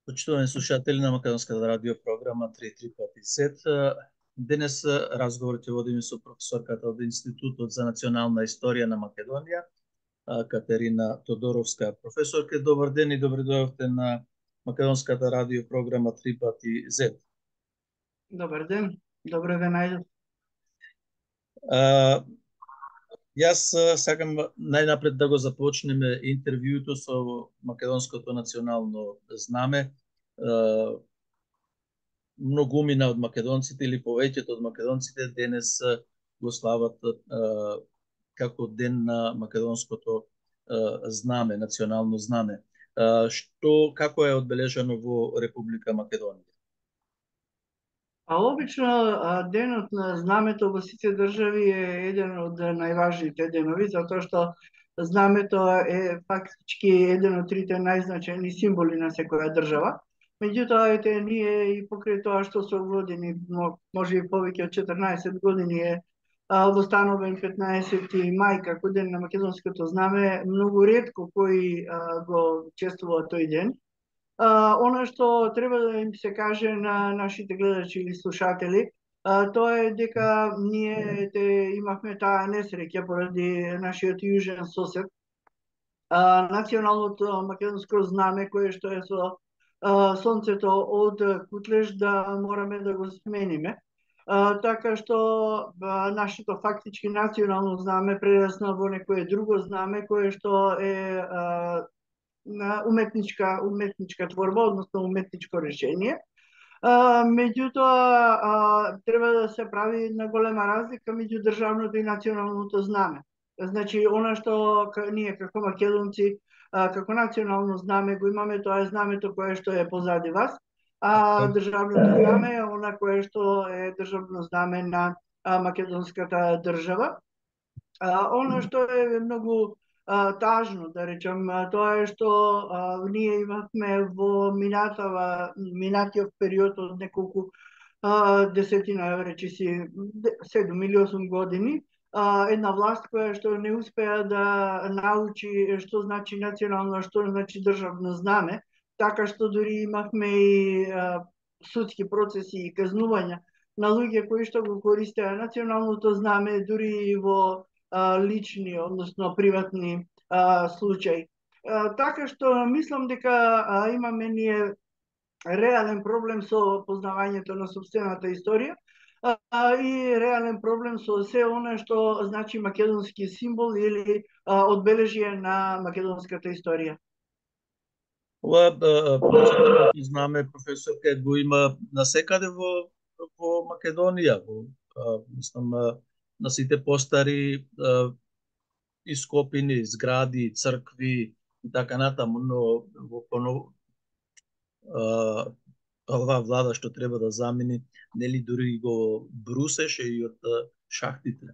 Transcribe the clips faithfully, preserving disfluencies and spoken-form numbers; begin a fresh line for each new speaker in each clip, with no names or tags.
Почитувани слушатели на Македонската радио програма три три пет зет, денес разговор ќе водиме со професорката од Институтот за национална историја на Македонија, Катерина Тодоровска. Професорке, добар ден и добре дојдовте на Македонската радио програма три пати зет.
Добар ден, добре ве најдов.
Јас сакам најнапред да го започнеме интервјуто со македонското национално знаме. Многумина од македонците или повеќето од македонците денес го слават како ден на македонското знаме, национално знаме. Што, како е одбележано во Република Македонија?
А обично денот на знамето во сите држави е еден од најважните денови, затоа што знамето е фактички еден од трите најзначајни символи на секоја држава. Меѓутоа, ете, ние и покрај тоа што со години, може и повеќе од четрнаесет години е востановен петнаесети мај како ден на македонското знаме, многу ретко кои го чествува тој ден. Uh, Она што треба да им се каже на нашите гледачи или слушатели, uh, тоа е дека ние те, имавме таа несреќа поради нашиот јужен сосед. Uh, националното македонско знаме, кое што е со uh, сонцето од Кутлеш, да мораме да го смениме. Uh, така што uh, нашето фактички национално знаме прерасна во некое друго знаме, кое што е uh, на уметничка уметничка творба, односно уметничко решение. А, меѓутоа а, треба да се прави на голема разлика меѓу државното и националното знаме. Значи, она што ние како македонци а, како национално знаме го имаме, тоа е знамето кое што е позади вас, а државното знаме е она кое што е државно знаме на а, македонската држава. А, она што е многу Uh, тажно, да речем, uh, тоа е што uh, ние имавме во минатава, минатиот период од неколку uh, десетина, речиси, седум или осум години, uh, една власт која што не успеа да научи што значи национално, што значи државно знаме, така што дури имавме и uh, судски процеси и казнувања на луѓе кои што го користеа националното знаме, дури и во лични, односно приватни а, случаи. А, така што мислам дека а, имаме ние реален проблем со познавањето на сопствената историја а, и реален проблем со се она што значи македонски символ или а, одбележие на македонската историја.
Ова знаме, професорка, го има насекаде во, во Македонија, во, а, мислам, на сите постари а, ископини, згради, цркви и така натаму, но во понов... а, оваа влада што треба да замени, нели дури го брусеше и од шахтите.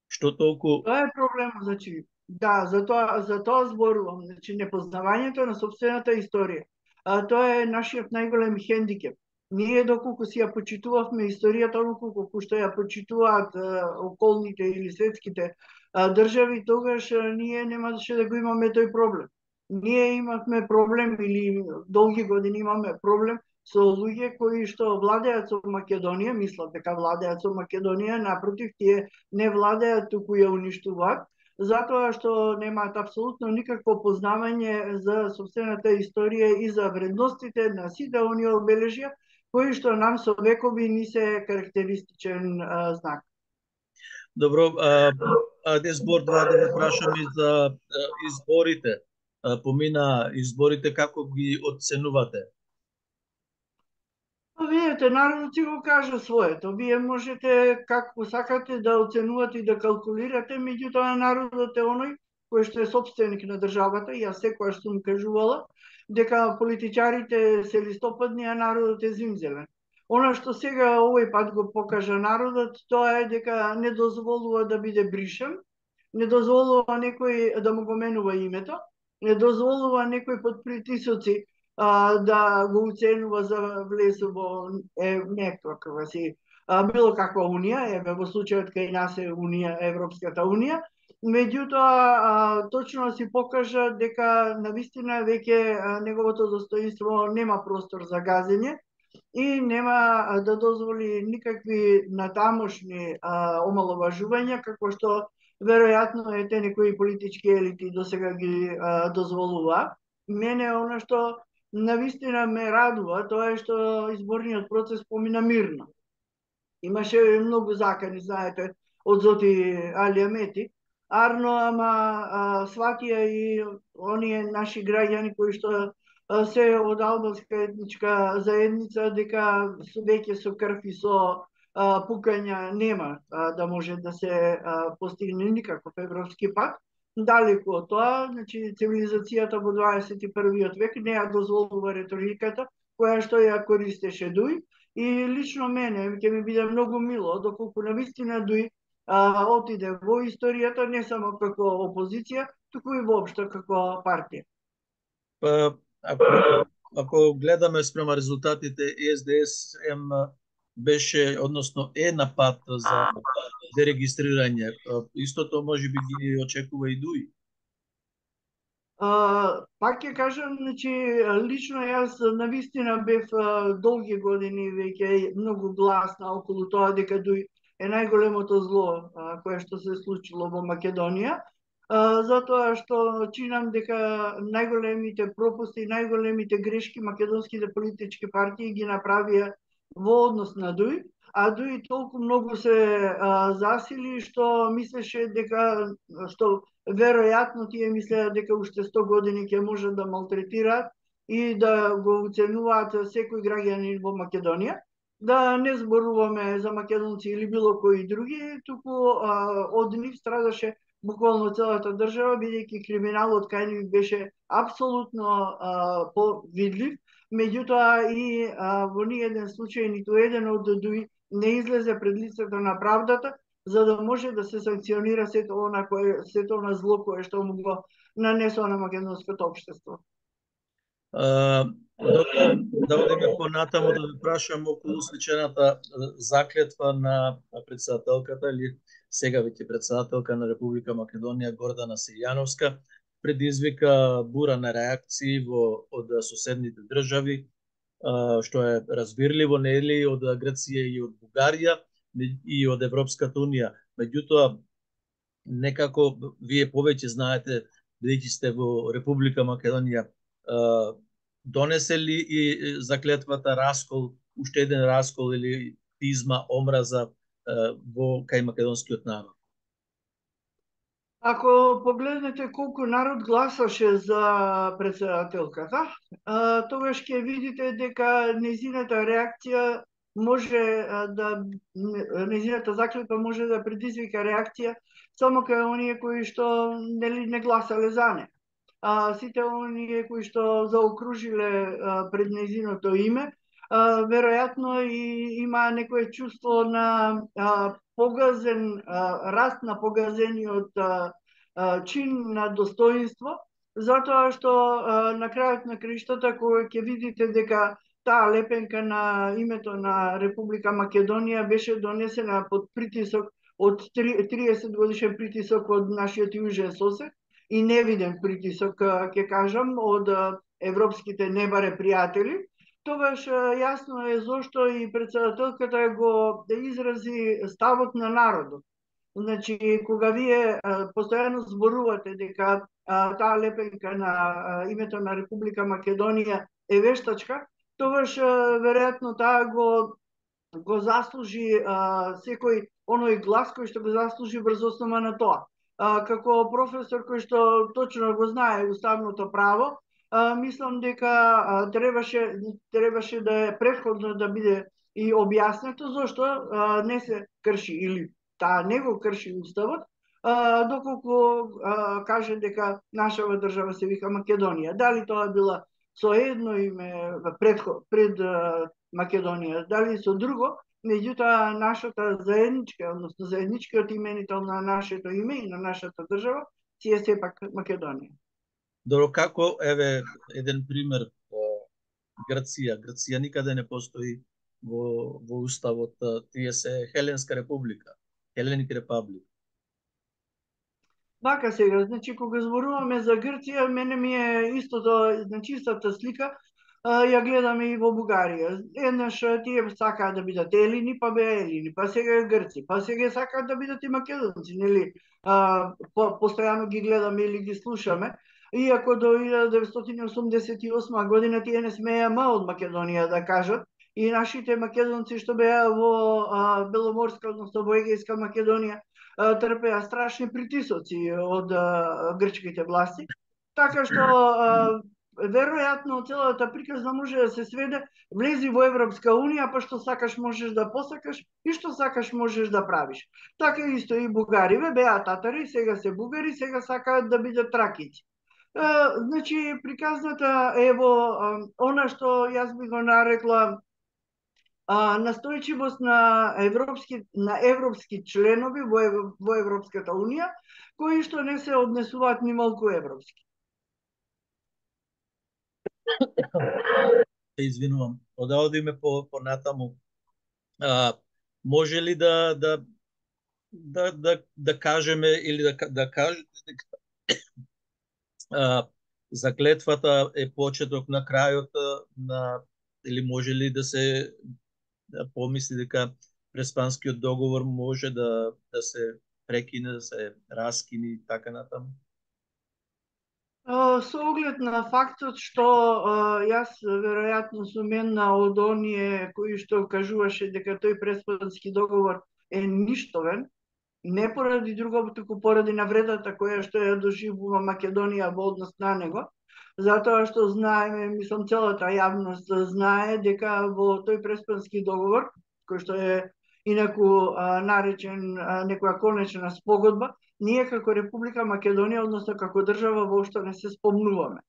Што толку...
Тоа е проблемот, значи, да, за тоа, за тоа зборувам, значи непознавањето на собствената историја. А, тоа е нашиот најголем хендикеп. Ние доколку си ја почитувавме историјата, колку што ја почитуваат а, околните или светските а, држави, тогаш а, ние немаше да го имаме тој проблем. Ние имавме проблем или долги години имаме проблем со луѓе кои што владеат со Македонија, мислат дека владеат со Македонија, напротив, тие не владеат, туку ја уништуваат, затоа што немаат апсолутно никакво познавање за собствената историја и за вредностите на сите оние обележја кои што нам со векови ни се карактеристичен а, знак.
Добро, а, а де збор два да ве прашам и за а, изборите. А, помина изборите, како ги оценувате?
Видете, народот си го кажа своето. Вие можете како сакате да оценувате и да калкулирате, меѓутоа народот е оној кој што е собственик на државата, и јас секогаш сум кажувала дека политичарите се листопадни, а народот е зимзелен. Она што сега овој пат го покажа народот, тоа е дека не дозволува да биде бришен, не дозволува некој да му го менува името, не дозволува некој под притисоци а, да го уценува за влез во е, некаква си а, било каква унија, еве во случајот кај нас е унија, Европската унија, Меѓутоа, точно си покажа дека навистина веќе неговото достоинство нема простор за газење и нема да дозволи никакви натамошни омаловажувања, како што веројатно ете некои политички елити досега ги дозволува. Мене она што навистина ме радува, тоа е што изборниот процес помина мирно. Имаше многу закани, знаете, од Зоти Али Амети, арно, ама сватија и оние наши граѓани кои што се од албанска етничка заедница, дека веќе со крв и со пукања нема да може да се постигне никаков европски пат. Далеку од тоа, значи цивилизацијата во дваесет и првиот век не ја дозволува реториката која што ја користеше Дуј. И лично мене ќе ми биде многу мило доколку навистина Дуј отиде во историјата не само како опозиција, туку и воопшто како партија.
Па, ако, ако гледаме спрема резултатите, Е Ес Де Ес Ем беше, односно е на пат за дерегистрирање. Истото може би ги очекува и Дуј.
Uh, пак ќе кажам, значи, лично јас навистина бев uh, долги години веќе многу гласна околу тоа дека Дуј е најголемото зло uh, кое што се случило во Македонија, uh, затоа што чинам дека најголемите пропусти и најголемите грешки македонските политички партии ги направија во однос на Дуј, а Дуј толку многу се а, засили што мислеше дека што веројатно тие мислеа дека уште сто години ќе можат да малтретираат и да го уценуваат секој граѓанин во Македонија. Да не зборуваме за македонци или било кои други, туку а, од нив страдаше буквално целата држава, бидејќи криминалот кај нив беше апсолутно а, повидлив. Меѓутоа и а, во ни еден случај ниту еден од Дуј не излезе пред лицето на правдата, за да може да се санкционира сето она кое сето она зло кое што му го нанесува на македонското општество.
Uh, Добро, да одиме понатаму да ви прашам околу сличената заклетва на председателката или сега веќе председателка на Република Македонија Гордана Силјановска. Предизвика бура на реакции во од соседните држави, што е разбирливо, нели, од Грција и од Бугарија и од Европската унија. Меѓутоа, некако вие повеќе знаете, бидејќи сте во Република Македонија, донесе ли и заклетвата раскол, уште еден раскол или пизма, омраза во кај македонскиот народ?
Ако погледнете колку народ гласаше за председателката, тогаш ќе видите дека незината реакција може да незината заклетва може да предизвика реакција само кај оние кои што нели не гласале за неа. А, сите оние кои што заокружиле а, пред незиното име, а, веројатно и има некое чувство на а, погазен, а, раст на погазениот а, а, чин на достоинство, затоа што а, на крајот на краиштата кога ќе видите дека таа лепенка на името на Република Македонија беше донесена под притисок од триесет годишен притисок од нашиот јужен сосед, и невиден притисок, ќе кажам, од европските небаре пријатели, тогаш јасно е зошто и председателката го изрази ставот на народот. Значи, кога вие постојано зборувате дека таа лепенка на името на Република Македонија е вештачка, тогаш веројатно таа го го заслужи секој оној глас кој што го заслужи врз основа на тоа. А, како професор кој што точно го знае уставното право, а, мислам дека а, требаше требаше да е претходно да биде и објаснето зошто а, не се крши или таа не го крши уставот, а, доколку а, каже дека нашава држава се вика Македонија. Дали тоа била со едно име пред пред а, Македонија, дали со друго, меѓутоа нашата заедничка, односно заедничкиот именител на нашето име и на нашата држава си е сепак Македонија.
Добро, како еве еден пример Грција. Грција никаде не постои во во уставот, тие се Хеленска република, Hellenic Republic.
Вака сега, значи кога зборуваме за Грција, мене ми е истото, значи истата слика, а, ја гледаме и во Бугарија. Еднаш тие сакаат да бидат елини, па беа елини, па сега Грци, па сега сакаат да бидат и македонци, нели? А, по, постојано ги гледаме или ги слушаме. Иако до илјада деветстотини осумдесет и осма година тие не смеја ма од Македонија да кажат, и нашите македонци што беа во а, Беломорска, односно во Егејска Македонија, трпеа страшни притисоци од грчките власти, така што веројатно целата приказна може да се сведе: влези во Европска унија, па што сакаш можеш да посакаш и што сакаш можеш да правиш. Така исто и бугариве беа татари, сега се бугари, сега сакаат да бидат тракици. Значи приказната е во она што јас би го нарекла а, настојчивост на европски на европски членови во, во Европската унија, кои што не се однесуваат ни малку европски.
Се извинувам. Да одиме по по натаму. А, може ли да да да да, да кажеме или да да кажете дека а, заклетвата е почеток на крајот на, или може ли да се да помисли дека Преспанскиот договор може да да се прекине, да се раскини и така натаму?
Со оглед на фактот што јас веројатно сум една од оние кои што кажуваше дека тој Преспански договор е ништовен, не поради друго, туку поради навредата која што ја доживува Македонија во однос на него, затоа што знаеме, мислам целата јавност знае дека во тој Преспански договор, кој што е инаку а, наречен а, некоја конечна спогодба, ние како Република Македонија, односно како држава, воопшто не се спомнуваме.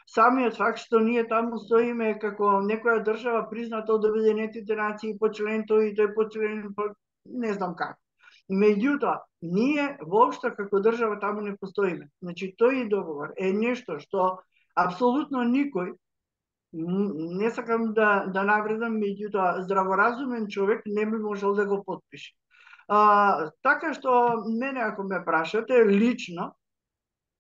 Самиот факт што ние таму стоиме како некоја држава призната од Обединетите нации по член тој и тој по член, не знам како. Меѓутоа, ние воопшто како држава таму не постоиме. Значи, тој договор е нешто што апсолутно никој, не сакам да, да навредам, меѓутоа здраворазумен човек не би можел да го потпише. А, така што, мене ако ме прашате, лично,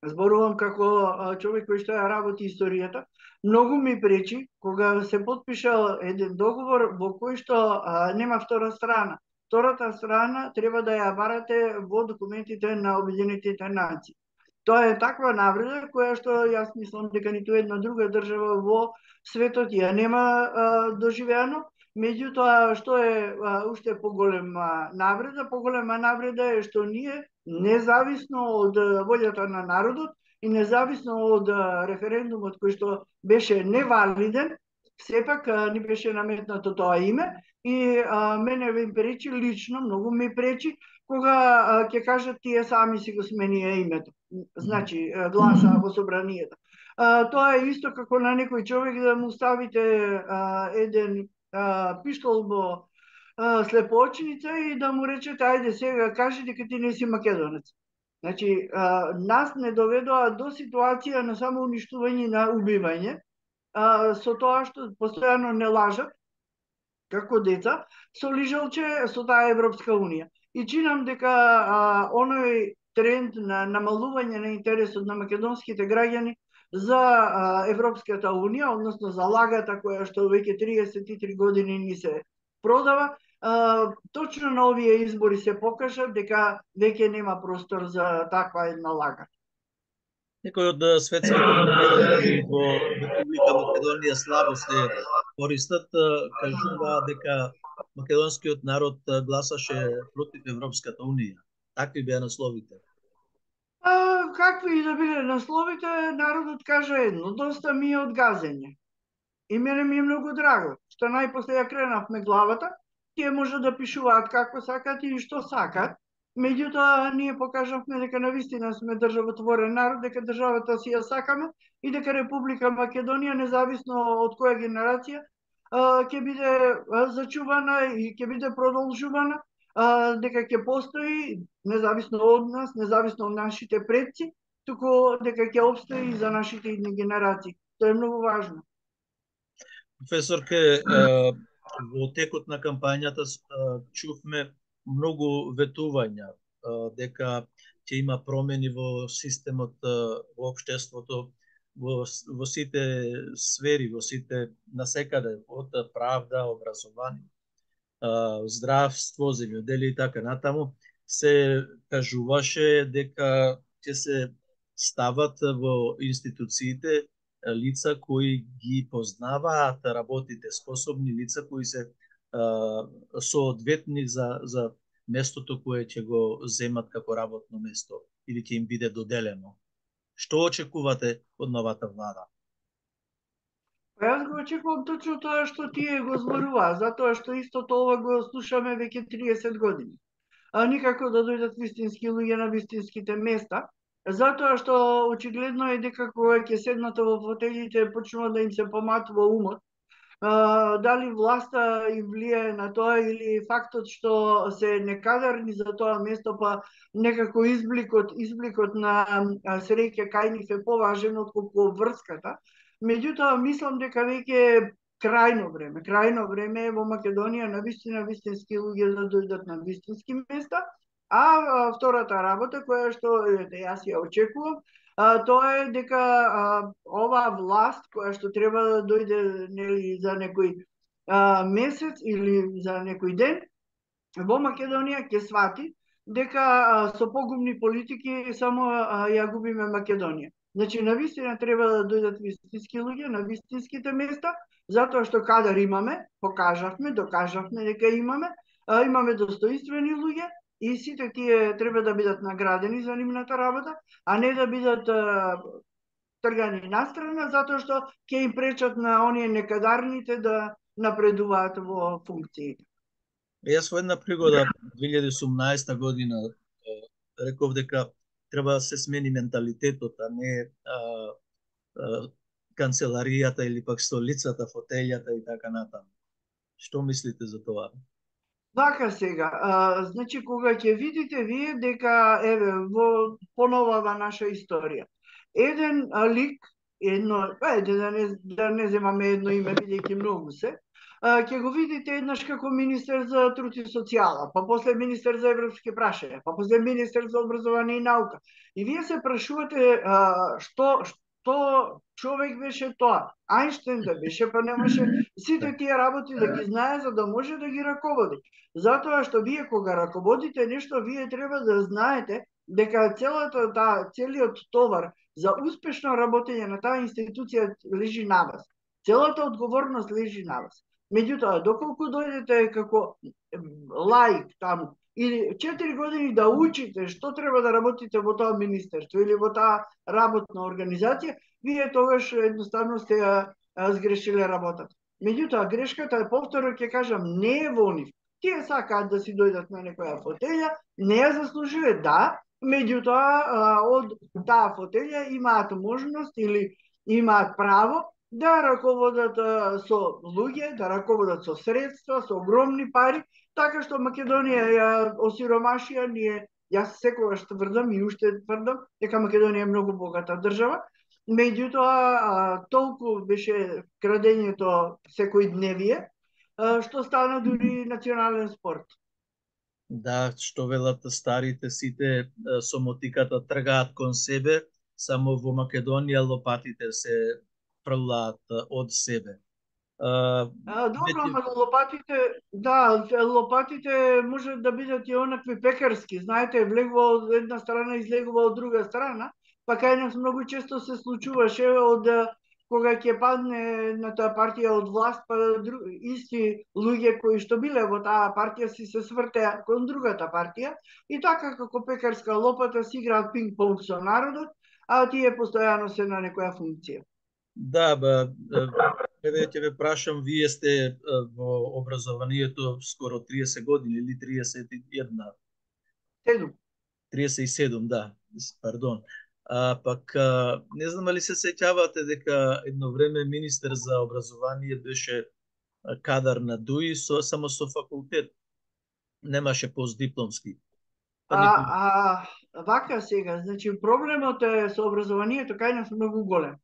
зборувам како човек кој што ја работи историјата, многу ми пречи кога се потпишал еден договор во кој што а, нема втора страна. Втората страна треба да ја барате во документите на Обединетите нации. Тоа е таква навреда која што јас мислам дека ниту една друга држава во светот ја нема а, доживеано. Меѓутоа, што е а, уште поголема навреда? Поголема навреда е што ние, независно од волјата на народот и независно од референдумот кој што беше невалиден, сепак ни беше наметнато тоа име и а, мене ми пречи лично, многу ми пречи кога ќе кажат тие сами си го сменија името. Значи, гласа во собранието. А, тоа е исто како на некој човек да му ставите а, еден а, пиштол во а, слепоочница и да му речете: ајде сега кажи дека ти не си македонец. Значи, а, нас не доведоа до ситуација на само уништување, на убивање, а, со тоа што постојано не лажат како деца, со лижалче со таа Европска унија. И чинам дека а, оној тренд на намалување на интересот на македонските граѓани за а, Европската унија, односно за лагата која што веќе триесет и три години ни се продава, а, точно на овие избори се покажа дека веќе нема простор за таква една лага.
Некои од светските лидери во Република Македонија слабо се користат, кажуваа дека македонскиот народ гласаше против Европската унија. Такви беа насловите.
А, какви и да биле насловите, народот кажа едно: доста ми е од газење. И мене ми е многу драго што најпосле ја кренавме главата, тие може да пишуваат како сакат и што сакат. Меѓутоа, ние покажавме дека навистина сме државотворен народ, дека државата си ја сакаме и дека Република Македонија, независно од која генерација, ќе биде зачувана и ќе биде продолжувана, дека ќе постои независно од нас, независно од нашите предци, туку дека ќе обстои и за нашите идни генерации. Тоа е многу важно.
Професорке, во текот на кампањата чувме многу ветувања дека ќе има промени во системот, во општеството, во, во сите сфери, во сите насекаде, од правда, образование, здравство, земјоделие и така натаму, се кажуваше дека ќе се стават во институциите лица кои ги познаваат работите, способни лица кои се соодветни за, за местото кое ќе го земат како работно место или ќе им биде доделено. Што очекувате од новата влада?
Па јас го очекувам точно тоа што тие го зборуваа, затоа што исто тоа го слушаме веќе триесет години. А никако да дојдат вистински луѓе на вистинските места, затоа што очигледно е дека кога ќе седнат во фотелите почнува да им се поматува умот. Uh, дали власта им влијае на тоа или фактот што се некадарни за тоа место, па некако избликот, избликот на среќа кај нив е поважен отколку врската. Меѓутоа, мислам дека веќе е крајно време. Крајно време е во Македонија на вистина вистински луѓе да дојдат на вистински места, а втората работа која што јас ја очекувам, А, тоа е дека а, оваа власт која што треба да дојде нели за некој а, месец или за некој ден во Македонија ќе свати дека а, со погубни политики само а, ја губиме Македонија. Значи навистина треба да дојдат вистински луѓе на вистинските места, затоа што кадар имаме, покажавме, докажавме дека имаме, а, имаме достоинствени луѓе. И сите тие треба да бидат наградени за нивната работа, а не да бидат а, тргани настрана, затоа што ќе им пречат на оние некадарните да напредуваат во функциите.
Јас во една пригода две илјади и осумнаесета година реков дека треба да се смени менталитетот, а не а, а, канцеларијата или пак столицата, фотелјата и така натаму. Што мислите за тоа?
Вака сега, а, значи кога ќе видите вие дека еве во поновава наша историја, еден а, лик, едно, ајде да не да не земаме едно име бидејќи многу се, а, ќе го видите еднаш како министер за труд и социјала, па после министер за европски прашања, па после министер за образование и наука. И вие се прашувате а, што што човек беше тоа, Ајнштен да беше, па немаше сите тие работи да ги знае за да може да ги раководи. Затоа што вие кога раководите нешто, вие треба да знаете дека целата таа целиот товар за успешно работење на таа институција лежи на вас. Целата одговорност лежи на вас. Меѓутоа, доколку дојдете како лаик таму или четири години да учите што треба да работите во тоа министерство или во таа работна организација, вие тогаш едноставно сте ја сгрешиле работата. Меѓутоа, грешката, повторно ќе кажам, не е во нив. Тие сакаат да си дојдат на некоја фотелја, не ја заслужиле, да, меѓутоа од таа фотелја имаат можност или имаат право да раководат со луѓе, да раководат со средства, со огромни пари, така што Македонија ја осиромашија, ние, јас секогаш тврдам и уште тврдам дека Македонија е многу богата држава, меѓутоа толку беше крадењето секој дневие, што стана дури национален спорт.
Да, што велат старите, сите со мотиката тргаат кон себе, само во Македонија лопатите се фрлаат од себе.
А, добро, ама лопатите, да, лопатите може да бидат и онакви пекарски, знаете, влегува од една страна, излегува од друга страна, па кај нас многу често се случуваше од кога ќе падне на таа партија од власт, па друг, исти луѓе кои што биле во таа партија си се свртеа кон другата партија и така како пекарска лопата си играат пинг-понг со народот, а тие постојано се на некоја функција.
Да, ба, еве ќе ве прашам, вие сте во образованието скоро триесет години или триесет и една?
Седум.
триесет и седум, да, пардон. А, пак, а, не знам али се сеќавате дека едно време министер за образование беше кадар на ДУИ, со, само со факултет. Немаше постдипломски. Па
а,
никој...
а вака сега, значи проблемот е со образованието кај нас многу голем.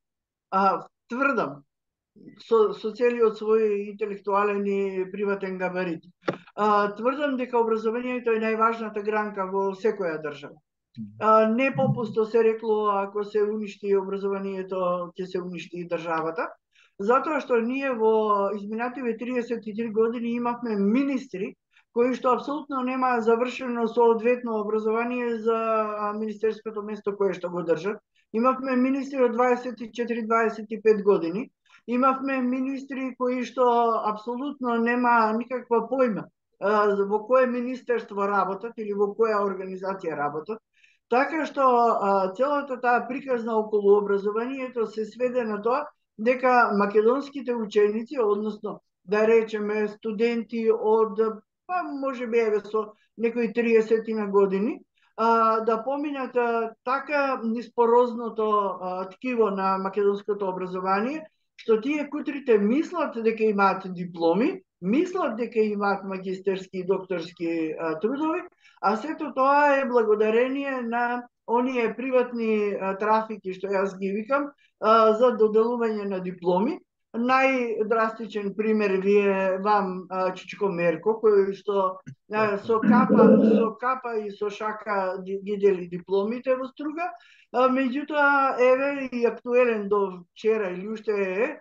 А, тврдам, со, со целиот свој интелектуален и приватен габарит. А, тврдам дека образованието е најважната гранка во секоја држава. Не попусто се рекло, ако се уништи образованието, ќе се уништи и државата, затоа што ние во изминативе триесет и три години имавме министри кои што апсолутно нема завршено соодветно образование за министерското место кое што го држат. Имавме министри од дваесет и четири дваесет и пет години, имавме министри кои што апсолутно нема никаква појма во кое министерство работат или во која организација работат. Така што целата таа приказна околу образованието се сведе на тоа дека македонските ученици, односно да речеме студенти од, па можеби еве со некои триесет на години, да поминат така ниспорозното ткиво на македонското образование, што тие кутрите мислат дека имаат дипломи, мислат дека имаат магистерски и докторски трудови, а сето тоа е благодарение на оние приватни трафики, што јас ги викам, за доделување на дипломи. Најдрастичен пример ви е вам Чичко Мерко, кој што со капа, со капа и со шака ги дели дипломите во Струга, меѓутоа еве и актуелен до вчера или уште е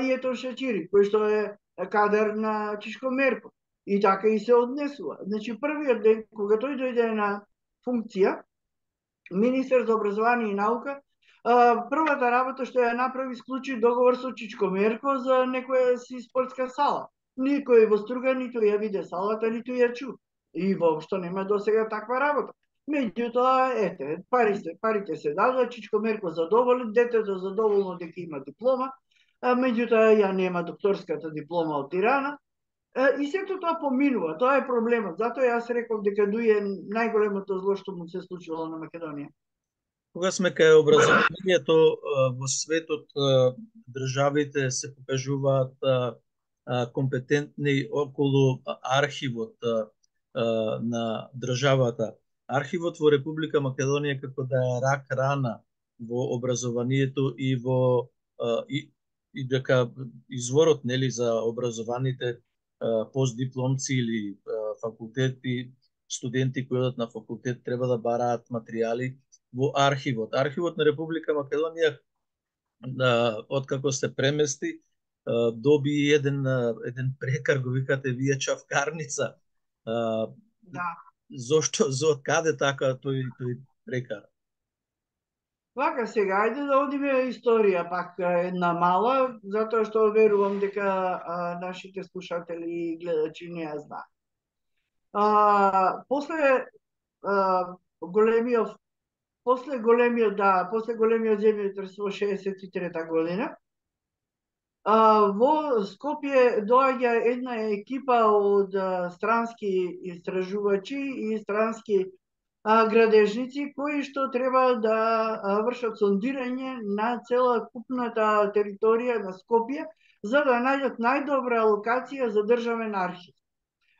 и ето Шачири, кој што е кадар на Чичко Мерко. И така и се однесува. Значи, првиот ден, кога тој дојде на функција, министер за образование и наука, првата работа што ја направи, склучи договор со Чичко Мерко за некоја си спортска сала. Никој во Струга ниту ја виде салата, ниту ја чу. И воопшто нема досега таква работа. Меѓутоа, ете, парите, парите се дадоа, Чичко Мерко задоволен, детето задоволно дека има диплома, меѓутоа ја нема докторската диплома од Тирана. И сето тоа поминува, тоа е проблемот. Затоа јас реков дека дуе најголемото зло што му се случило на Македонија.
Кога сме кај образованието во светот, државите се покажуваат компетентни околу архивот на државата. Архивот во Република Македонија како да е рак рана во образованието и во и, и дека изворот нели за образованите постдипломци или факултети, студенти кои одат на факултет треба да бараат материјали во архивот. Архивот на Република Македонија, откако се премести, доби еден еден прекар, го викате вие чавкарница.
Да.
Зошто, за каде така тој тој прекар?
Вака сега, ајде да одиме историја пак една мала, затоа што верувам дека а, нашите слушатели и гледачи не ја знаат. А, после а, големиот после големиот да, после големиот земјотрес во шеесет и трета година, а, во Скопје доаѓа една екипа од а, странски истражувачи и странски А, градежници кои што треба да а, вршат сондирање на цела купната територија на Скопје за да најдат најдобра локација за државен архив.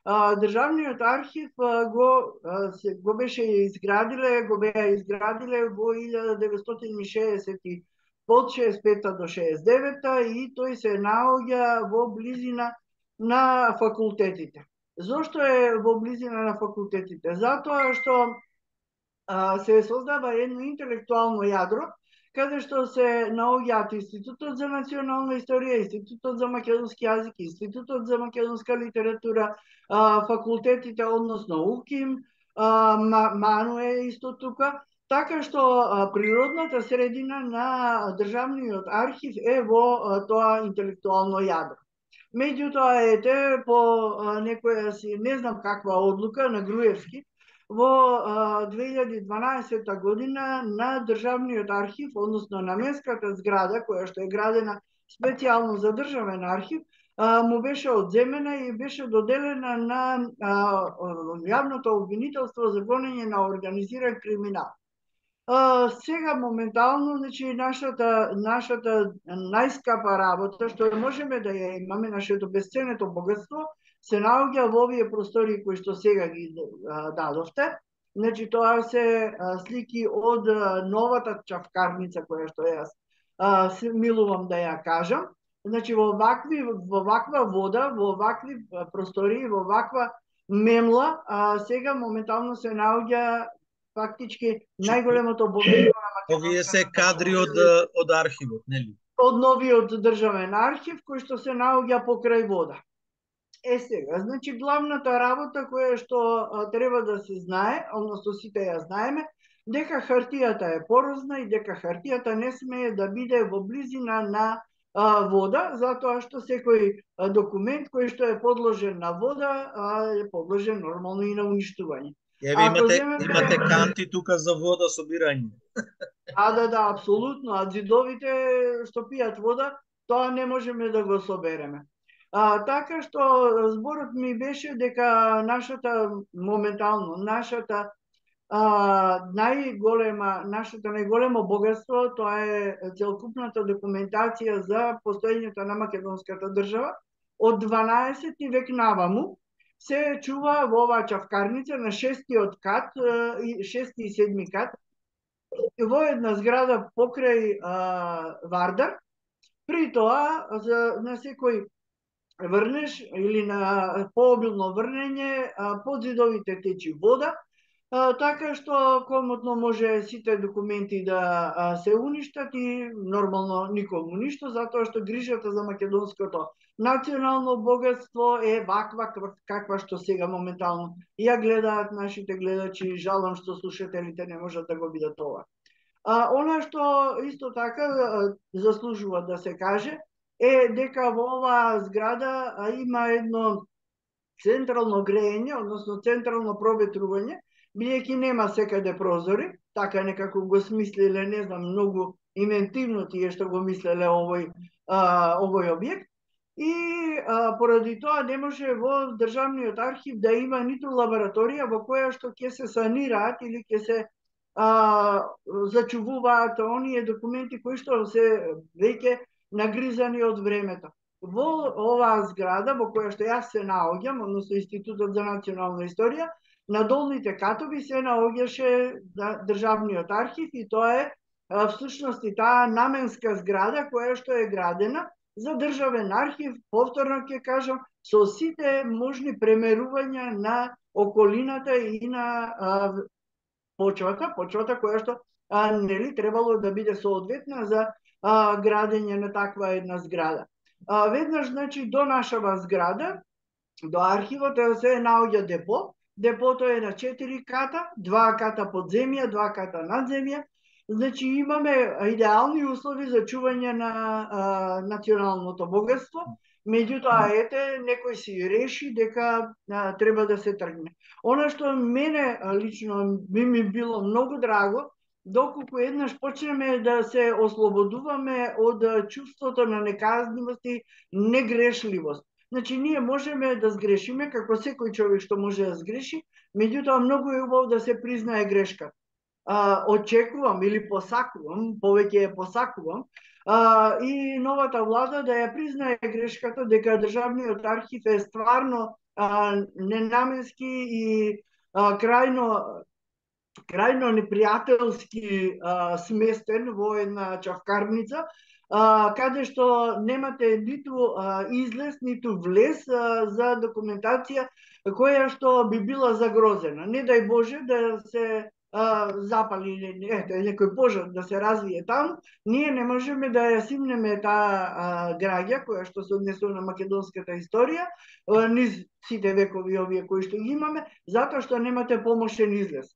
А, државниот архив а, го, а, се, го беше изградиле, го беа изградиле во илјада деветстотини и шеесет од шеесет и пета до шеесет и девета и тој се наоѓа во близина на факултетите. Зошто е во близина на факултетите? Затоа што се создава едно интелектуално јадро, каде што се наоѓаат Институтот за национална историја, Институтот за македонски јазик, Институтот за македонска литература, факултетите, односно УКИМ, МАНУ е исто тука, така што природната средина на државниот архив е во тоа интелектуално јадро. Меѓутоа, ете, по некоја си, не знам каква одлука на Груевски, во две илјади и дванаесета година на државниот архив, односно на наменската зграда, која што е градена специјално за државен архив, му беше одземена и беше доделена на јавното обвинителство за гонење на организиран криминал. Сега моментално, значи, нашата, нашата најскапа работа, што можеме да ја имаме, нашето бесценето богатство, се наоѓа во овие простори кои што сега ги дадовте. Значи, тоа се слики од новата чавкарница која што јас се милувам да ја кажам. Значи, во вакви, во ваква вода, во вакви простори, во ваква мемла, сега моментално се наоѓа фактички најголемото богатство на македонската
Овие се кадри од од архивот, нели?
Од новиот државен архив кој што се наоѓа покрај вода. Е сега, значи главната работа која што а, треба да се знае, односно сите ја знаеме, дека хартијата е порозна и дека хартијата не смее да биде во близина на а, вода, затоа што секој а, документ кој што е подложен на вода а, е подложен нормално и на уништување.
Еве имате земете... имате канти тука за вода собирање.
А да, да, апсолутно, а зидовите што пијат вода, тоа не можеме да го собереме. А, така што зборот ми беше дека нашата моментално нашата а, најголема нашето најголемо богатство тоа е целокупната документација за постоењето на македонската држава од дванаесети век наваму се чува во оваа чавкарница на шестиот кат и шести и седми кат во една зграда покрај а, Вардар. При тоа за на секој врнеш или на пообилно врнење под зидовите течи вода, а, така што комотно може сите документи да а, се уништат и нормално никому ништо, затоа што грижата за македонското национално богатство е ваква каква што сега моментално ја гледаат нашите гледачи, жалам што слушателите не можат да го видат ова. А, она што исто така а, заслужува да се каже е дека во оваа зграда а, има едно централно грејење, односно централно проветрување, бидејќи нема секаде прозори, така некако го смислиле, не знам, многу инвентивно тие што го мислеле овој а, овој објект. И а, поради тоа не може во државниот архив да има ниту лабораторија во која што ќе се санираат или ќе се а, зачувуваат оние документи кои што се веќе нагризани од времето. Во оваа зграда во која што јас се наоѓам, односно Институтот за национална историја, на долните катови се наоѓаше државниот архив и тоа е всушност и таа наменска зграда која што е градена за државен архив, повторно ќе кажам, со сите можни премерувања на околината и на а, почвата, почвата која што а, нели требало да биде соодветна за а, градење на таква една зграда. А, веднаш, значи, до нашава зграда, до архивот се наоѓа депо. Депото е на четири ката, два ката под земја, два ката над земја. Значи имаме идеални услови за чување на а, националното богатство. Меѓутоа, ете, некој си реши дека а, треба да се тргне. Она што мене лично би ми било многу драго, доколку еднаш почнеме да се ослободуваме од чувството на неказнивост и негрешливост. Значи, ние можеме да сгрешиме, како секој човек што може да сгреши, меѓутоа многу е убаво да се признае грешка. А, очекувам или посакувам, повеќе е посакувам, а, и новата влада да ја признае грешката дека државниот архив е стварно а, ненаменски и а, крајно крајно непријателски а, сместен во една чавкарница, а, каде што немате ниту а, излез, ниту влез а, за документација која што би била загрозена. Не дај Боже да се а, запали ете, некој пожар да се развие таму, ние не можеме да ја симнеме таа граѓа која што се однесува на македонската историја а, низ сите векови овие кои што ги имаме, затоа што немате помошен излез.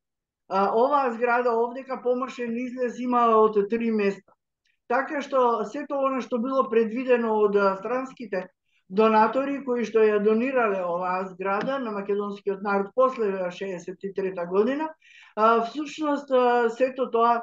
А, оваа зграда овдека помошен излез има од три места. Така што сето она што било предвидено од странските донатори кои што ја донирале оваа зграда на македонскиот народ после шеесет и трета година, а, всушност сето тоа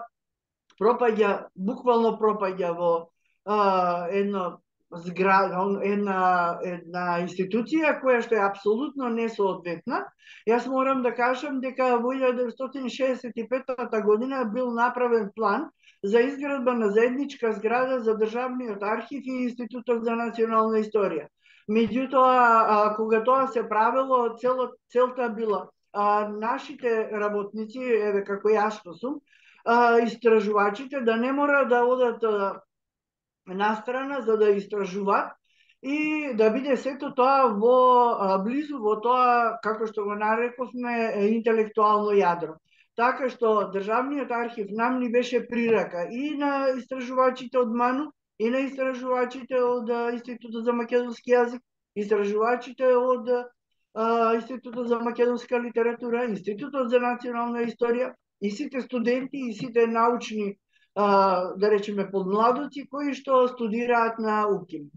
пропаѓа, буквално пропаѓа во а, едно зграда, една, една институција која што е апсолутно несоодветна. Јас морам да кажам дека во илјада деветстотини шеесет и петта година бил направен план за изградба на заедничка зграда за државниот архив и Институтот за национална историја. Меѓутоа, кога тоа се правело, цело, целта била а, нашите работници, еве како јас што сум, а, истражувачите да не мора да одат а, настрана за да истражуваат и да биде сето тоа во а, близу во тоа, како што го нарековме, интелектуално јадро. Така што Државниот архив нам ни беше прирака и на истражувачите од МАНУ, и на истражувачите од Институтот за македонски јазик, истражувачите од а, Институтот за македонска литература, Институтот за национална историја, и сите студенти и сите научни, а, да речеме, подмладоци кои што студираат на УКИМ.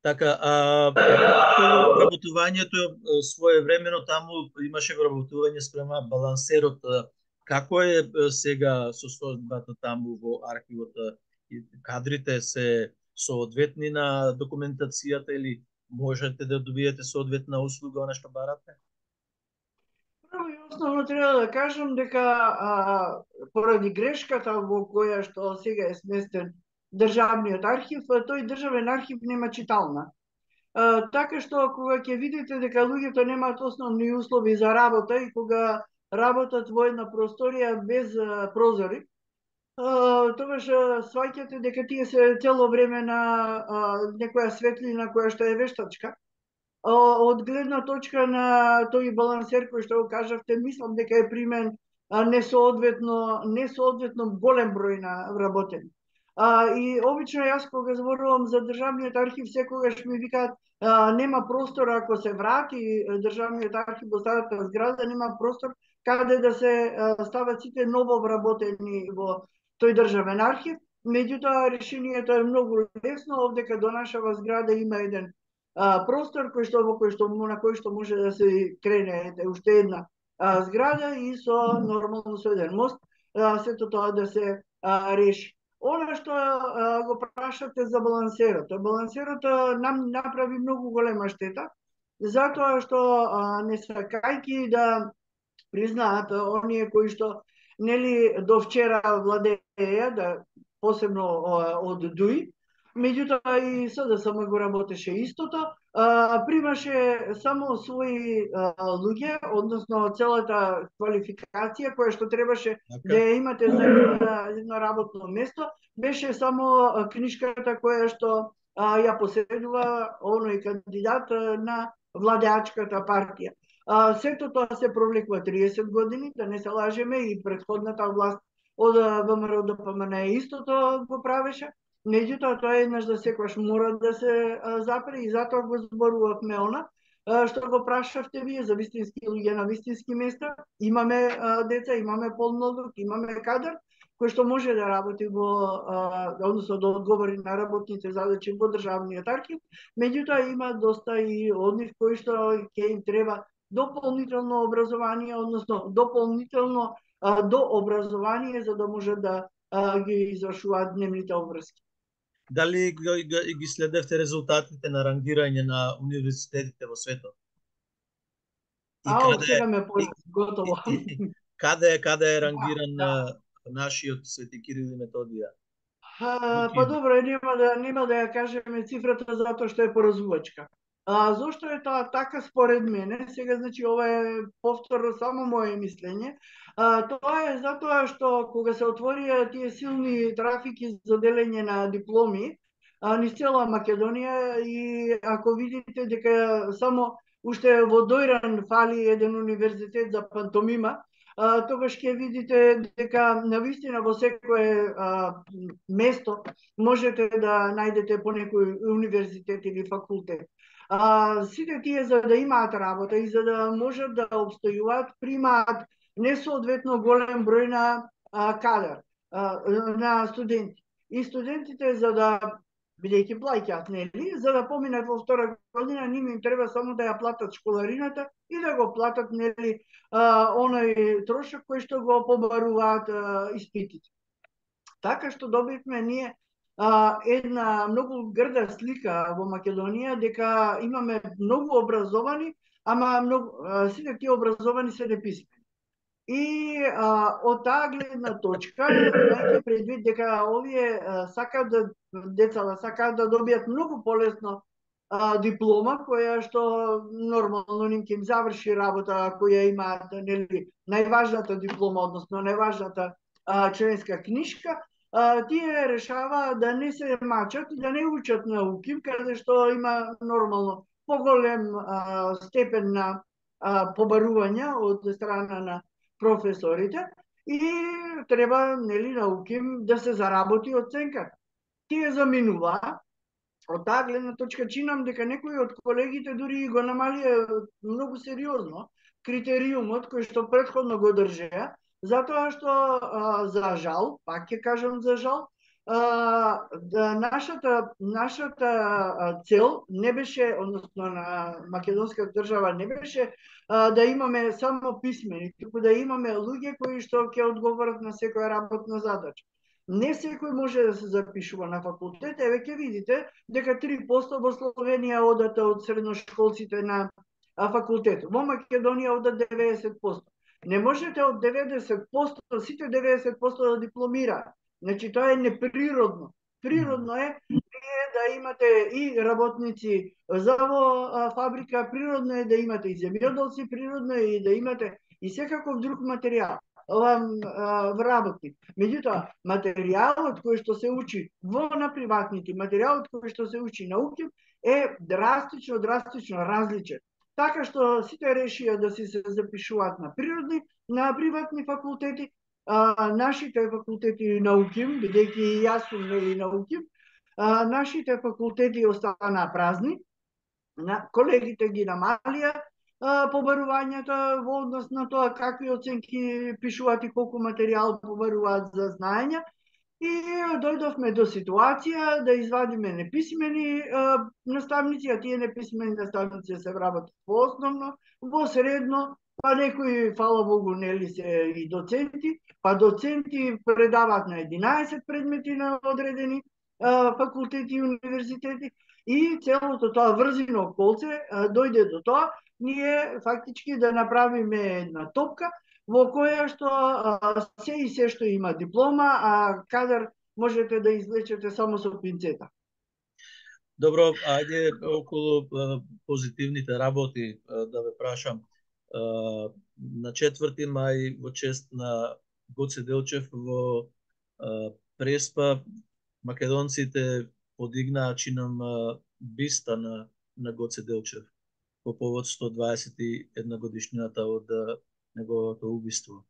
Така, а вработувањето своевремено таму имаше вработување спрема балансерот. Како е сега состојбата таму во архивот? Кадрите се соодветни на документацијата или можете да добиете соодветна услуга она што барате?
Прво и основно треба да кажам дека а, поради грешката во која што сега е сместен Државниот архив, тој државен архив нема читална. А, така што кога ќе видите дека луѓето немаат основни услови за работа и кога работат во една просторија без а, прозори, а, тогаш сваќате дека тие се цело време на а, некоја светлина која што е вештачка. Од гледна точка на тој балансер кој што го кажавте, мислам дека е примен несоодветно несоодветно голем број на вработени. А, и обично јас кога зборувам за Државниот архив, секогаш ми викаат а, нема простор ако се врати Државниот архив во старата зграда, нема простор каде да се а, стават сите ново вработени во тој Државен архив. Меѓутоа решението е многу лесно, овдека до нашава зграда има еден а, простор кој што во кој што на кој што може да се крене уште една а, зграда и со нормално со еден мост а, сето тоа да се а, реши. Она што а, го прашате за балансерот, балансерот а, нам направи многу голема штета, затоа што а, не сакајќи да признаат а, оние кои што нели до вчера владееја, да посебно а, од ДУИ, меѓутоа и СДСМ го работеше истото, а, примаше само своји а, луѓе, односно целата квалификација која што требаше
Така.
да ја имате за едно работно место, беше само книшката која што а, ја поседува оној кандидат а, на владеачката партија. А, сето тоа се провлекува триесет години, да не се лажеме, и претходната власт од ВМРО ДПМН истото го правеше. Меѓутоа, тоа еднаш да секогаш мора да се а, запре и затоа го зборувавме она, а, што го прашавте вие за вистински луѓе на вистински места. Имаме а, деца, имаме полнолук, имаме кадар, кој што може да работи во, а, односно да одговори на работните задачи во Државниот архив, меѓутоа има доста и од нив кои што ќе им треба дополнително образование, односно дополнително а, до образование за да може да а, ги извршуваат дневните обврски.
Дали ги, ги, ги следевте резултатите на рангирање на универзитетите во светот?
И Ау, каде сега ме појде, готово.
Каде, каде е рангиран да, да. нашиот Свети Кирил и Методија?
А, па добро, нема да, нема да ја кажеме цифрата затоа што е поразувачка. А, зошто е тоа така според мене? Сега, значи, ова е повторно само моje мислење. А, тоа е затоа што кога се отворија тие силни трафики за делење на дипломи а, низ цела Македонија, и ако видите дека само уште во Дојран фали еден универзитет за пантомима, а, тогаш ќе видите дека навистина во секое а, место можете да најдете по некој универзитет или факултет. А, сите тие за да имаат работа и за да можат да обстојуваат, примаат несоодветно голем број на а, кадар, а, на студенти. И студентите за да бидејќи плаќаат, нели, за да поминат во втора година, ним им треба само да ја платат школарината и да го платат, нели, а, оној трошок кој што го побаруваат а, испитите. Така што добивме ние а, една многу грда слика во Македонија, дека имаме многу образовани, ама многу, а, сите тие образовани се неписмени. И а, од таа гледна точка, имајќи предвид дека овие а, сакаат да децата сакаат да добијат многу полесно а, диплома, која што нормално ним ќе им заврши работа, која имаат, нели, најважната диплома, односно најважната а, членска книшка, а, тие решаваат да не се мачат и да не учат на УКИМ, каде што има нормално поголем а, степен на а, побарување од страна на професорите и треба, нели, науким да се заработи оценка. Тие заминува. Од таа гледна точка чинам дека некои од колегите дури го намалија многу сериозно критериумот кој што претходно го држеа, затоа што а, за жал, пак ќе кажам за жал, а, да нашата нашата цел не беше, односно на македонската држава не беше а, да имаме само писмени, туку да имаме луѓе кои што ќе одговорат на секоја работна задача. Не секој може да се запишува на факултет, еве ќе видите дека три проценти во Словенија одат од средношколците на факултет. Во Македонија одат деветдесет проценти. Не можете од деветдесет проценти сите деветдесет проценти да дипломираат. Значи тоа е неприродно. Природно е да имате и работници за во фабрика, природно е да имате и земјоделци, природно е и да имате и секаков друг материјал. Вработник. Меѓутоа, материјалот кој што се учи во на приватните, материјалот кој што се учи науки е драстично, драстично различен. Така што сите решија да си се запишуваат на природни, на приватни факултети, а, нашите факултети науки, бидејќи и јас сум нели науки, а, нашите факултети останаа празни, на колегите ги намалија побарувањата во однос на тоа какви оценки пишуваат и колку материјал побаруваат за знаења и дојдовме до ситуација да извадиме неписмени а, наставници, а тие неписмени наставници се вработат во основно, во средно, па некои, фала Богу, нели се и доценти, па доценти предаваат на единаесет предмети на одредени а, факултети и универзитети и целото тоа врзино колце а, дојде до тоа ние фактички да направиме една топка во која што а, се и се што има диплома, а кадар можете да извлечете само со пинцета.
Добро, ајде околу а, позитивните работи а, да ве прашам. А, на четврти мај во чест на Гоце Делчев во а, Преспа македонците подигнаа чинам а, биста на, на Гоце Делчев по повод сто дваесет и една годишнината од неговото убиство.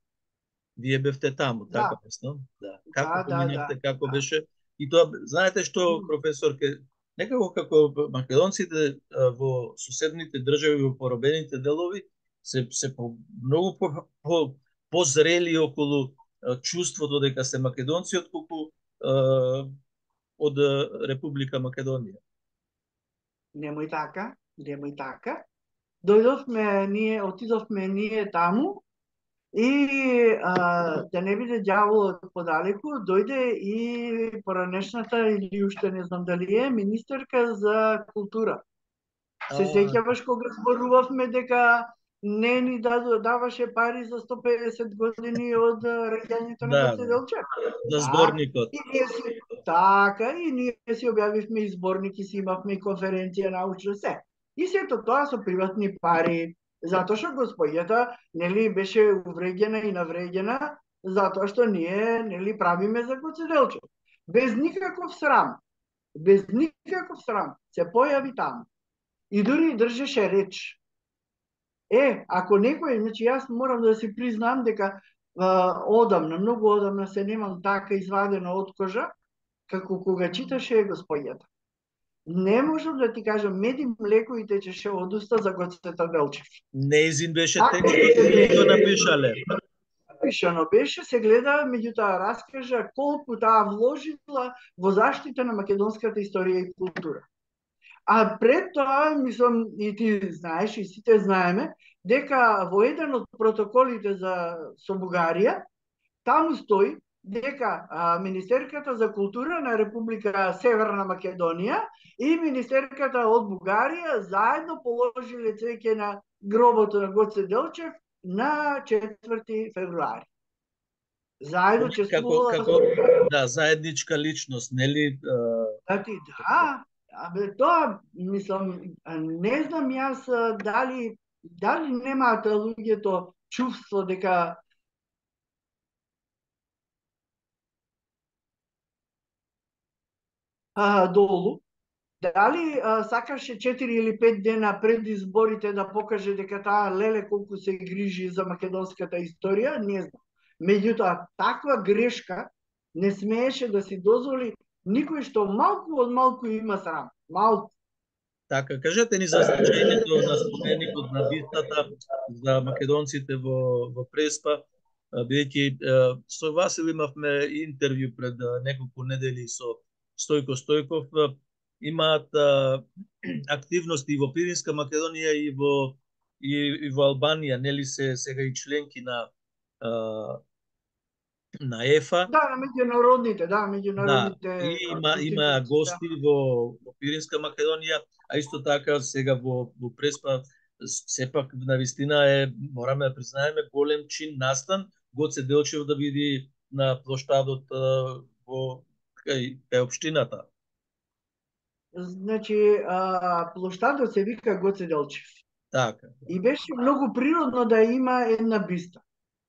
Вие бевте таму,
Да.
така мислам? Да. Како
Да, да,
поминавте,
да,
како
да.
беше? И тоа, знаете што, професор, ке, некако како македонците а, во соседните држави, во поробените делови, се, се по, многу по, по, позрели околу а, чувството дека се македонци, отколку а, од Република Македонија.
Немој така, немој така. Дојдовме ние, отидовме ние таму и а, да не биде ѓаволот подалеку, дојде и поранешната или уште не знам дали е министерка за култура. Се сеќаваш кога зборувавме дека не ни даваше пари за сто педесет години од раѓањето на
Да,
Гоце Делчев.
за зборникот.
И ние си, така, и ние си објавивме и зборник и си имавме и конференција научна се. И сето тоа со приватни пари, затоа што господјата нели беше увреѓена и навреѓена, затоа што ние нели правиме за Гоце Делчев. Без никаков срам, без никаков срам се појави таму. И дури држеше реч. Е, ако некој, значи јас морам да си признам дека а, одамна, многу одамна се немам така извадена од кожа, како кога читаше господјата. Не можам да ти кажам, меди млеко и течеше од уста за Гоцета Делчев.
Неизин беше текстот или го напишале?
Напишано беше, се гледа, меѓутоа раскажа колку таа вложила во заштита на македонската историја и култура. А пред тоа, мислам, и ти знаеш, и сите знаеме, дека во еден од протоколите за со Бугарија, таму стои дека а, Министерката за култура на Република Северна Македонија и Министерката од Бугарија заедно положиле цвеќе на гробото на Гоце Делчев на четврти февруари. Заедно чествувала...
Како, како, да, заедничка личност, нели?
Да, ти, да. Абе, тоа, мислам, не знам јас дали, дали немаат луѓето чувство дека а, долу, Дали а, сакаше четири или пет дена пред изборите да покаже дека таа леле колку се грижи за македонската историја, не знам. Меѓутоа, таква грешка не смееше да си дозволи никој што малку од малку има срам. Малку.
Така, кажете ни за значењето на споменикот на бистата за македонците во, во Преспа, бидејќи со Васил имавме интервју пред неколку недели со Стојко Стојков, имаат а, активности и во Пиринска Македонија и во и, и во Албанија, нели се сега и членки на а, на ЕФА.
Да, на меѓународните, да, меѓународните
Да, и има има
институции,
гости
да.
во, во Пиринска Македонија, а исто така сега во во Преспа сепак навистина е, мораме да признаеме, голем чин настан Гоце Делчев да види на плоштадот во кај, кај општината.
Значи, а, плоштадот се вика Гоце Делчев.
Така.
И беше многу природно да има една биста.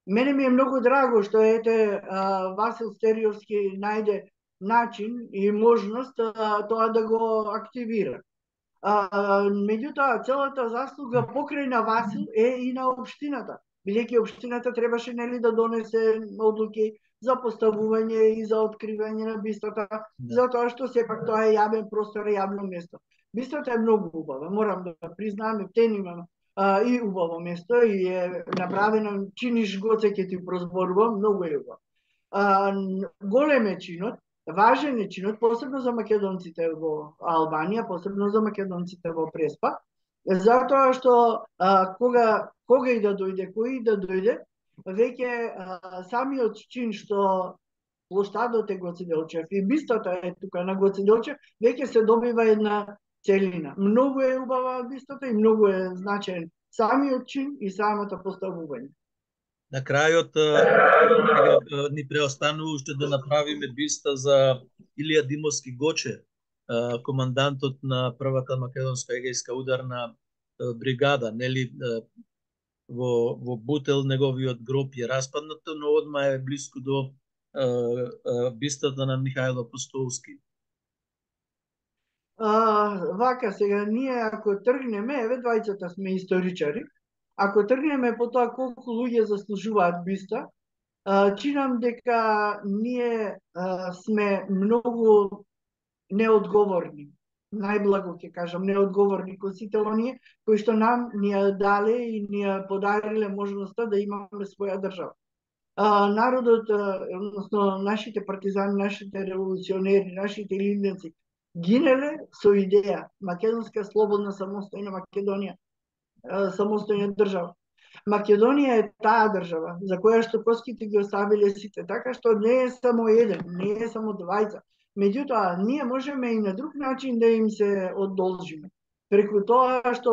Мене ми е многу драго што ете а, Васил Стериовски најде начин и можност а, тоа да го активира. А, меѓутоа, целата заслуга покрај на Васил е и на општината. Бидејќи општината требаше нели да донесе одлуки за поставување и за откривање на бистата,
Да.
затоа што сепак тоа е јавен простор и јавно место. Бистата е многу убава, морам да признам, тен имам а, и убаво место и е направено, чиниш Гоце ќе ти прозборувам, многу е убаво. А, голем е чинот, важен е чинот, посебно за македонците во Албанија, посебно за македонците во Преспа, затоа што а, кога кога и да дојде, кој и да дојде, веќе а, самиот чин што плоштадот е Гоце Делчев и бистата е тука на Гоце Делчев, веќе се добива една целина. Многу е убава бистата и многу е значаен самиот чин и самото поставување.
На крајот сега ни преостанува уште да направиме биста за Илија Димовски Гоче, командантот на првата македонска егејска ударна бригада, нели во во Бутел неговиот гроб е распаднат, но одма е блиску до бистата на Михајло Апостолски.
А, вака сега ние ако тргнеме, еве двајцата сме историчари, ако тргнеме по тоа колку луѓе заслужуваат биста, а, чинам дека ние а, сме многу неодговорни. Најблаго ќе кажам, неодговорни кон сите оние кои што нам ни ја дале и ни ја подариле можноста да имаме своја држава. А, народот, а, односно нашите партизани, нашите револуционери, нашите лидници гинеле со идеја македонска слободна самостојна Македонија, а, самостојна држава. Македонија е таа држава за која што коските ги оставиле сите, така што не е само еден, не е само двајца. Меѓутоа, ние можеме и на друг начин да им се одолжиме. Преку тоа што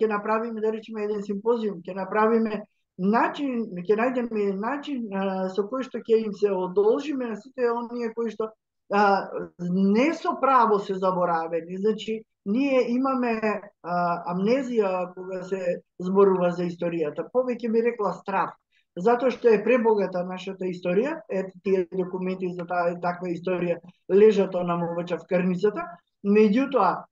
ќе направиме, да речеме, еден симпозиум, ќе направиме начин, ќе најдеме начин а, со кој што ќе им се одолжиме на сите оние кои што а, не со право се заборавени. Значи, ние имаме а, амнезија кога се зборува за историјата. Повеќе би рекла страв. Затоа што е пребогата нашата историја, ете тие документи за таа таква историја лежат онаму во чавкарницата, меѓутоа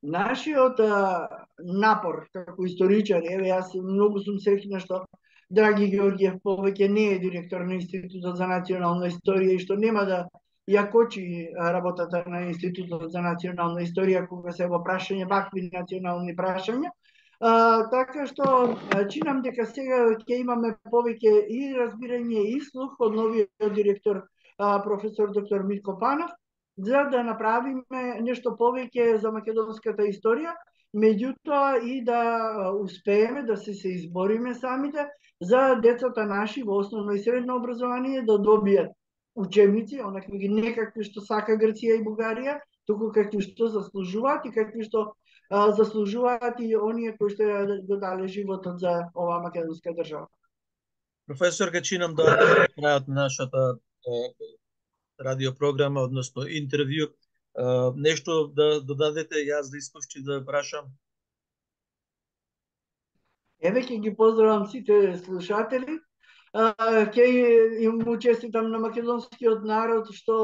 нашиот а, напор како историчари, еве јас многу сум среќна што Драги Ѓорѓиев повеќе не е директор на Институтот за национална историја и што нема да ја кочи работата на Институтот за национална историја кога се во прашање вакви национални прашања. А, така што чинам дека сега ќе имаме повеќе и разбирање и слух од новиот директор а, професор доктор Митко Панов за да направиме нешто повеќе за македонската историја, меѓутоа и да успееме да се се избориме самите за децата наши во основно и средно образование да добијат учебници, онакви не какви што сака Грција и Бугарија, туку какви што заслужуваат и какви што а, заслужуваат и оние кои што го дале животот за оваа македонска држава.
Професор, ке чинам да на крајот на нашата радиопрограма, односно интервју, нешто да додадете, јас да искушти да прашам?
Еве ќе ги поздравам сите слушатели. Ќе им му честитам на македонскиот народ што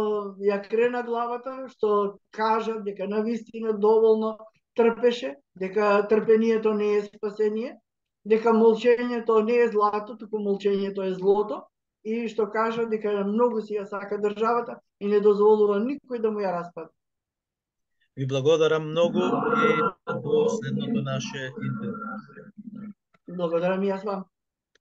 ја крена главата, што кажа дека навистина доволно трпеше, дека трпението не е спасение, дека молчењето не е злато, туку молчењето е злото, и што кажа дека многу си ја сака државата и не дозволува никој да му ја распадне.
Ви благодарам многу и до следното наше интервју.
Благодарам и јас вам.